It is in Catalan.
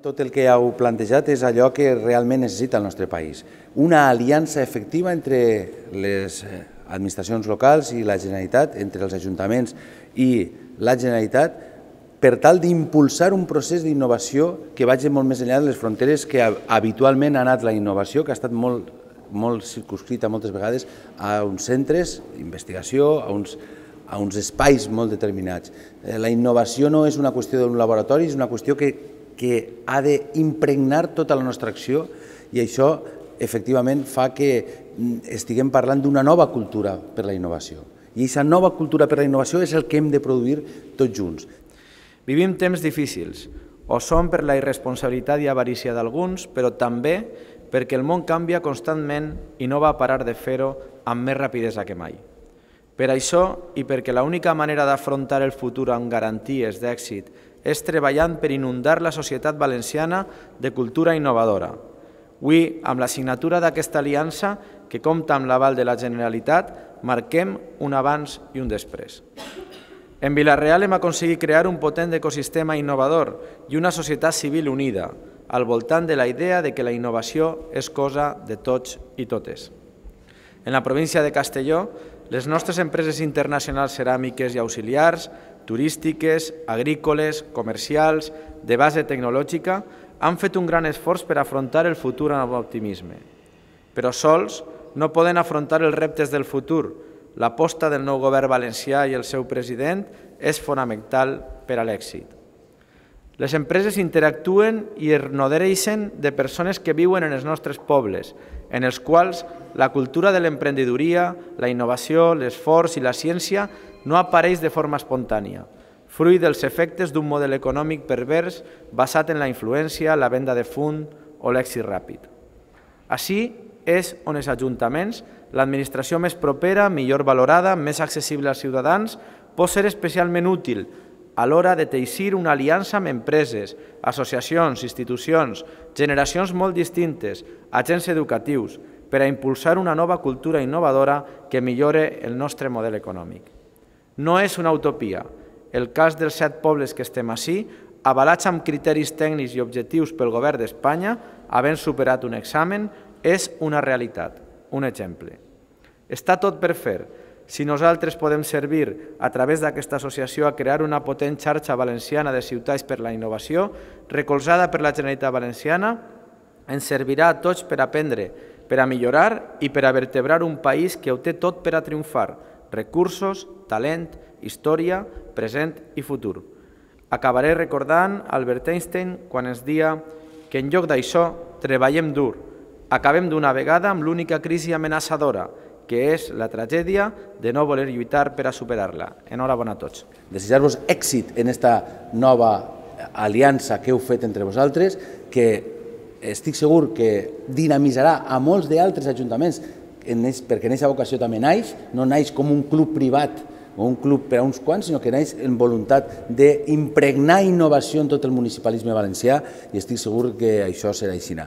Tot el que heu plantejat és allò que realment necessita el nostre país. Una aliança efectiva entre les administracions locals i la Generalitat, entre els ajuntaments i la Generalitat, per tal d'impulsar un procés d'innovació que vagi molt més enllà de les fronteres que habitualment ha anat la innovació, que ha estat molt circunscrita moltes vegades a uns centres d'investigació, a uns espais molt determinats. La innovació no és una qüestió d'un laboratori, és una qüestió que ha d'impregnar tota la nostra acció i això efectivament fa que estiguem parlant d'una nova cultura per la innovació. I aquesta nova cultura per la innovació és el que hem de produir tots junts. Vivim temps difícils, o són per la irresponsabilitat i avarícia d'alguns, però també perquè el món canvia constantment i no va parar de fer-ho amb més rapidesa que mai. Per això, i perquè l'única manera d'afrontar el futur amb garanties d'èxit és treballant per inundar la societat valenciana de cultura innovadora. Avui, amb la signatura d'aquesta aliança, que compta amb l'aval de la Generalitat, marquem un abans i un després. En Vila-real hem aconseguit crear un potent ecosistema innovador i una societat civil unida, al voltant de la idea de que la innovació és cosa de tots i totes. En la província de Castelló, les nostres empreses internacionals ceràmiques i auxiliars, turístiques, agrícoles, comercials, de base tecnològica, han fet un gran esforç per afrontar el futur amb optimisme. Però sols no poden afrontar els reptes del futur. L'aposta del nou govern valencià i el seu president és fonamental per a l'èxit. Les empreses interactuen i es nodreixen de persones que viuen en els nostres pobles, en els quals la cultura de l'emprenedoria, la innovació, l'esforç i la ciència no apareix de forma espontània, fruit dels efectes d'un model econòmic pervers basat en la influència, la venda de fum o l'èxit ràpid. Així és on els ajuntaments, l'administració més propera, millor valorada, més accessible als ciutadans, pot ser especialment útil a l'hora de teixir una aliança amb empreses, associacions, institucions, generacions molt distintes, agents educatius, per a impulsar una nova cultura innovadora que millore el nostre model econòmic. No és una utopia. El cas dels 7 pobles que estem ací, avalats amb criteris tècnics i objectius pel govern d'Espanya, havent superat un examen, és una realitat, un exemple. Està tot per fer. Si nosaltres podem servir a través d'aquesta associació a crear una potent xarxa valenciana de ciutats per la innovació, recolzada per la Generalitat Valenciana, ens servirà a tots per aprendre, per a millorar i per a vertebrar un país que ho té tot per a triomfar: recursos, talent, història, present i futur. Acabaré recordant Albert Einstein quan ens deia que en lloc d'això treballem dur, acabem d'una vegada amb l'única crisi amenaçadora, que és la tragèdia de no voler lluitar per a superar-la. Enhorabona a tots. Desitjar-vos èxit en aquesta nova aliança que heu fet entre vosaltres, que estic segur que dinamitzarà a molts d'altres ajuntaments, perquè en aquesta vocació també naix, no naix com un club privat o un club per a uns quants, sinó que naix en voluntat d'impregnar innovació en tot el municipalisme valencià i estic segur que això serà així.